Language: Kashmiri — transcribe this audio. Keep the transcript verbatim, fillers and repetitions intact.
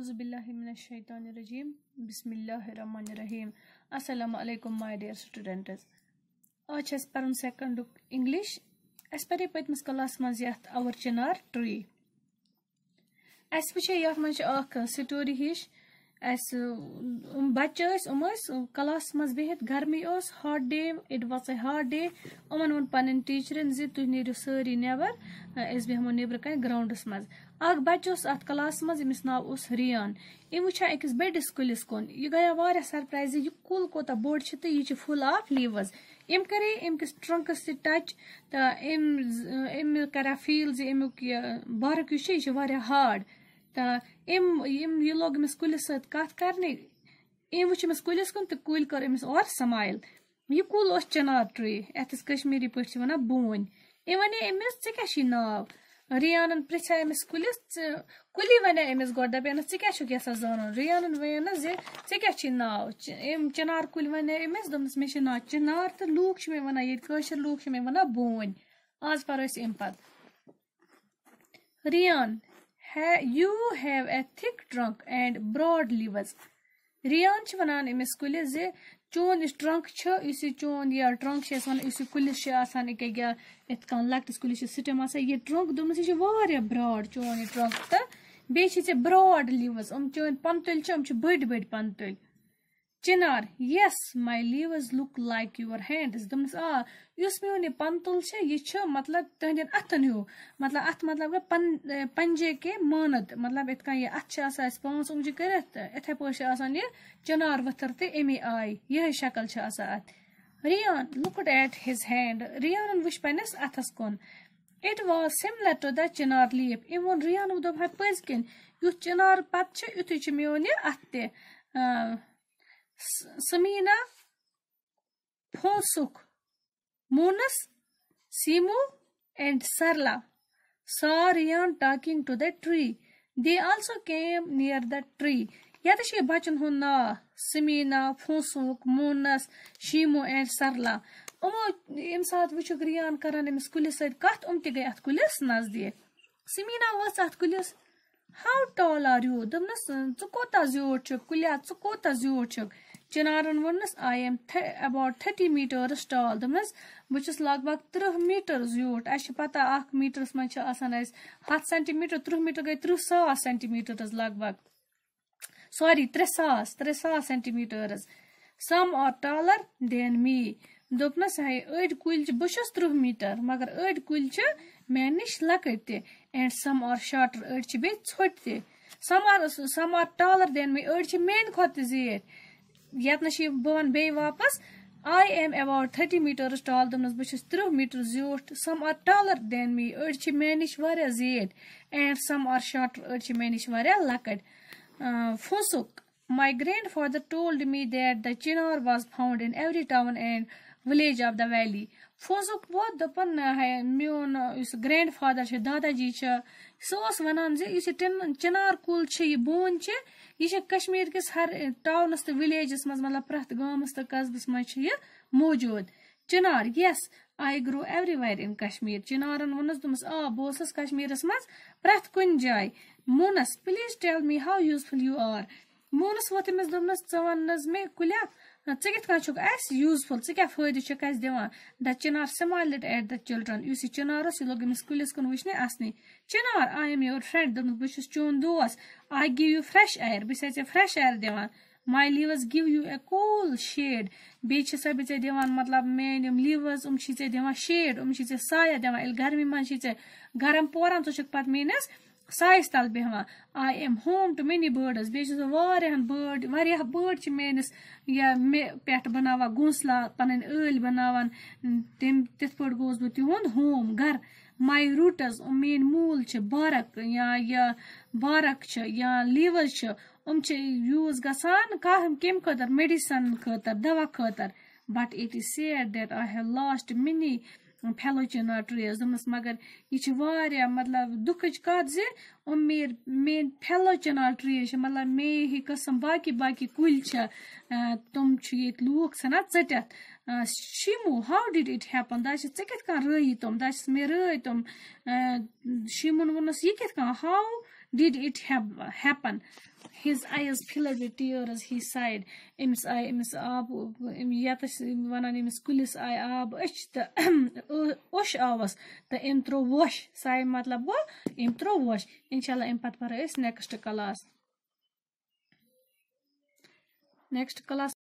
اعوذ باللہ من الشیطان الرجیم۔ بسم اللہ الرحمن الرحیم۔ السلام علیکم my dear students۔ آز چھِ اَسہِ پَرُن سیکنڈُک انگلش۔ اَسہِ پَرے پٔتمِس کلاسس منٛز یَتھ our chinar tree۔ اَسہِ وٕچھے یَتھ منٛز چھِ اکھ سٹوری ہِش۔ اَسہِ، یِم بَچہٕ ٲسۍ، یِم ٲسۍ کلاسس منٛز بِہِتھ، گرمی اوس، hot day، it was a hot day۔ یِمَن ووٚن پنٕنۍ ٹیچرن زِ تُہۍ نیٖرِو سٲری نٮ۪بر، أسۍ بیٚہمو نیٚبرٕ کَنہِ گراؤنڈس منٛز۔ اکھ بَچہٕ اوس اَتھ کلاسس منٛز، ییٚمِس ناو اوس ریان۔ أمۍ وٕچھا أکِس بٔڑِس کُلِس کُن۔ یہِ گٔیا واریاہ سرپرائز زِ یہِ کُل کوٗتاہ بوٚڑ چھُ تہٕ یہِ چھُ full of leaves۔ أمۍ کَرے أمۍ کِس ٹرنکس سۭتۍ touch تہٕ أمۍ ز-، أمۍ کَرا فیٖل زِ اَمیُک یہِ bark یُس چھُ، یہِ چھُ واریاہ hard۔ تہٕ أمۍ، أمۍ، یہِ لوگ أمِس کُلِس سۭتۍ کَتھ کَرنہِ۔ أمۍ وٕچھ أمِس کُلِس کُن تہٕ کُلۍ کٔر أمِس اورٕ smile۔ یہِ کُل اوس chinar tree، یَتھ أسۍ کشمیٖری پٲٹھۍ چھِ وَنان بوٗنۍ۔ أمۍ وَنے أمِس، "ژےٚ کیٛاہ چھُے ناو؟" ریانن پرٛژھے أمِس کُلِس، ژٕ، کُلی وَنے أمِس گۄڈٕ، دَپیٚنَس، "ژٕ کیٛاہ چھُکھ یَژھان زانُن؟" ریانن وَنیٚنَس زِ، "ژےٚ کیٛاہ چھُے ناو؟" چ-، أمۍ چِنار کُلۍ وَنے أمِس، دوٚپنَس، "مےٚ چھُ ناو چِنار تہٕ لوٗکھ چھِ مےٚ وَنان، ییٚتہِ کٲشِر لوٗکھ چھِ مےٚ وَنان بوٗنۍ۔" آز پَرو أسۍ اَمہِ پَتہٕ۔ Rayan, "You have a thick trunk and broad leaves." Rayan چھِ وَنان أمِس کُلِس زِ چون یُس trunk چھُ، یُس یہِ چون یہِ trunk چھُ أسۍ وَنان، یُس یہِ کُلِس چھُ آسان، ییٚکیٛاہ یہِ یِتھ کٔنۍ لۄکٹِس کُلِس چھُ stem آسان، یہِ trunk، دوٚپمَس، یہِ چھُ واریاہ broad چون یہِ trunk، تہٕ بیٚیہِ چھِ ژےٚ broad leaves، یِم چٲنۍ پَنہٕ تُلۍ چھِ، یِم چھِ بٔڑۍ بٔڑۍ پَنہٕ تُلۍ۔ چِنار، "Yes, my leaves look like your hands." دوٚپمَس، "آ، یُس میون یہِ پَنہٕ تُل چھُ، یہِ چھُ مطلب تُہنٛدٮ۪ن اَتھَن ہیوٗ، مطلب اَتھ مطلب گوٚو پَن-، پَنجے کے مانَت، مطلب یِتھ کٔنۍ یہِ اَتھٕ چھِ آسان اَسہِ پانٛژھ اونٛگجہِ کٔرِتھ، تہٕ یِتھَے پٲٹھۍ چھِ آسان یہِ چِنار ؤتھٕر تہِ اَمی آیہِ، یِہوٚے شکل چھِ آسان اَتھ۔" Rayan looked at his hand، ریانَن وٕچھ پنٛنِس اَتھَس کُن۔ "It was similar to the chinar leaf." أمۍ ووٚن، ریانَن دوٚپ، "ہا پٔزۍ کِنۍ، یُتھ چِنار پَتہٕ چھُ، یُتھُے چھُ میون یہِ اَتھٕ تہِ۔" آ، س-، سمیٖنا، فونسُک، مونس، سیمو and Sarla saw Rian talking to the tree. They also came near the tree. ییٚتہِ چھُ یہِ بَچَن ہُنٛد ناو، سمیٖنا، فونسُک، مونس، شیمو and Sarla۔ یِمو ییٚمہِ ساتہٕ وٕچھُکھ ریان کران أمِس کُلِس سۭتۍ کَتھ، یِم تہِ گٔے اَتھ کُلِس نزدیٖک۔ سمیٖنا وٲژ اَتھ کُلِس، "How tall are you؟" دوٚپنَس، "ژٕ کوٗتاہ زیوٗٹھ چھُکھ، کُلیا، ژٕ کوٗتاہ زیوٗٹھ چھُکھ؟" چِنارَن ووٚننَس، "I am th-, about thirty meters tall." دوٚپنَس، "بہٕ چھُس لگ بگ تٕرٛہ میٖٹر زیوٗٹھ۔" اَسہِ چھِ پَتہ، اَکھ میٖٹرَس منٛز چھِ آسان اَسہِ ہَتھ سینٹی میٖٹر، تٕرٛہ میٖٹر گٔے تٕرٛہ ساس سینٹی میٖٹرَس لگ بگ۔ Sorry، ترٛےٚ ساس، ترٛےٚ ساس centimeters۔ Some are taller than me۔ دوٚپنَس، "ہے، أڑۍ کُلۍ چھِ، بہٕ چھُس تٕرٛہ میٖٹر، مگر أڑۍ کُلۍ چھِ مےٚ نِش لۄکٕٹۍ تہِ۔ And some are shorter، أڑۍ چھِ بیٚیہِ ژھوٚٹۍ تہِ۔ Some are, some are taller than me، أڑۍ چھِ میٛانہِ کھۄتہٕ تہِ زیٖٹھۍ۔" یَتنَس چھِ بہٕ وَنہٕ بیٚیہِ واپَس، "I am about thirty meters tall۔" دوٚپنَس، "بہٕ چھُس تٕرٛہ میٖٹر زیوٗٹھ۔" Some are taller than me، أڑۍ چھِ مےٚ نِش واریاہ زیٖٹھۍ۔ And some are shorter، أڑۍ چھِ مےٚ نِش واریاہ لۄکٕٹۍ۔ آ، فونسُک، "My grandfather told me that the chinar was found in every town and village of the valley." فونسُک ووت، دوٚپُن، "ہے، میون یُس گرینڈ فادر چھُ، دادا جی چھُ، سُہ اوس وَنان زِ یُس یہِ ٹِن-، چِنار کُل چھُ، یہِ بوٗنۍ چھِ، یہِ چھِ کشمیٖر کِس ہر ٹاونَس تہٕ وِلیجَس منٛز، مطلب پرٛٮ۪تھ گامَس تہٕ قصبَس منٛز چھِ یہِ موجوٗد۔" چِنار، "Yes, I grew everywhere in Kashmir۔" چِنارَن ووٚنُس، دوٚپمَس، "آ، بہٕ اوسُس کشمیٖرَس منٛز پرٛٮ۪تھ کُنہِ جایہِ۔" مونس، "Please tell me how useful you are." مونس ووٚتھ أمِس، دوٚپنَس، "ژٕ وَن نہٕ حظ مےٚ کُلیا، ژٕ کِتھ کٔنۍ چھُکھ اَسہِ useful، ژٕ کیٛاہ فٲیدٕ چھُکھ اَسہِ دِوان؟" The chinar smiled at the children۔ یُس یہِ چِنار اوس، یہِ لوٚگ أمِس کُلِس کُن وٕچھنہِ اَسنٕے۔ "Chinar, I am your friend۔" دوٚپمَس، "بہٕ چھُس چون دوس۔" "I give you fresh air۔" بہٕ چھَسَے ژےٚ fresh air دِوان۔ "My leaves give you a cool shade۔" بیٚیہِ چھَسَے بہٕ ژےٚ دِوان، مطلب، میٛٲنۍ یِم leaves، یِم چھِ ژےٚ دِوان shade، یِم چھِ ژےٚ سایہ دِوان۔ ییٚلہِ گرمی منٛز چھِ ژےٚ گرم پوران، ژٕ چھُکھ پَتہٕ میٛٲنِس سایَس تَل بیٚہوان۔ "I am home to many birds۔" بیٚیہِ چھُس بہٕ واریاہَن bird، واریاہ bird چھِ میٛٲنِس یا مےٚ پٮ۪ٹھ بَناوان گھونسلہ، پَنٕنۍ ٲلۍ بَناوان۔ تِم، تِتھ پٲٹھۍ گوس بہٕ تِہُنٛد home، گَرٕ۔ "My roots"، یِم میٛٲنۍ موٗل چھِ، bark یا یہِ bark چھِ یا leaves چھِ، یِم چھِ use گژھان کانٛہہ کَمہِ خٲطرٕ؟ Medicine خٲطرٕ، دوا خٲطرٕ۔ "But it is sad that I have lost many fellow chinar trees۔" دوٚپمَس، مگر یہِ چھِ واریاہ، مطلب، دُکھٕچ کَتھ زِ یِم مے-، میٛٲنۍ fellow chinar trees چھِ، مطلب، مے ہی قٕسم باقی باقی کُلۍ چھِ، آ، تِم چھِ ییٚتہِ لوٗکھ ژھٕنان ژٔٹِتھ۔ آ، شیمو، "How did it happen؟" دَپان چھِ، "ژےٚ کِتھ کٔنۍ رٲیی تِم؟" دَپان چھِس، "مےٚ رٲے تِم۔" آ، شیمون ووٚنُس، "یہِ کِتھ کٔنۍ؟ How Did it hap- happen? His eyes filled with tears, he sighed. أمِس آیہِ، أمِس آب، أمۍ، یَتھ أسۍ وَنان، أمِس کُلِس آیہِ آب أچھ تہٕ اوٚش آوَس تہٕ أمۍ ترٛوو ووش۔ Sigh مطلب گوٚو أمۍ ترٛوو ووش۔ اِنشاء اللہ، اَمہِ پَتہٕ پَرو أسۍ next class۔ Next class